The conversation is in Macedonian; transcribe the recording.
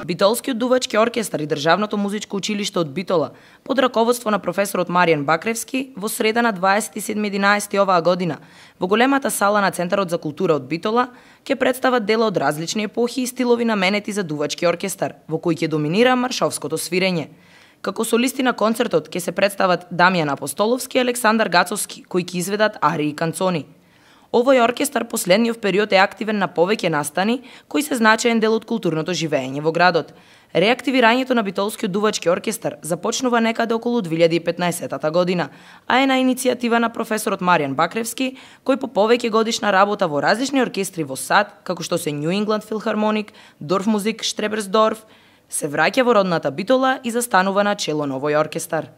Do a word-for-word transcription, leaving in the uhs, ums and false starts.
Битолскиот дувачки оркестар и Државното музичко училиште од Битола, под раководство на професорот Маријан Бакревски, во среда на дваесет и седми единаесети оваа година, во големата сала на Центарот за култура од Битола, ќе представат дела од различни епохи и стилови наменети за дувачки оркестар, во кои ќе доминира маршовското свирење. Како солисти на концертот ќе се представат Дамјан Апостоловски и Александар Гацовски, кои ќе изведат арии и канцони. Овој оркестар последниот период е активен на повеќе настани, кои се значаен дел од културното живење во градот. Реактивирањето на Битолскиот дувачки оркестар започнува некаде околу две илјади и петнаесета година, а е на иницијатива на професорот Маријан Бакревски, кој по повеќе годишна работа во различни оркестри во САД, како што се New England Philharmonic, Dorfmusik Strebersdorf, се враќа во родната Битола и застанува на чело на овој оркестар.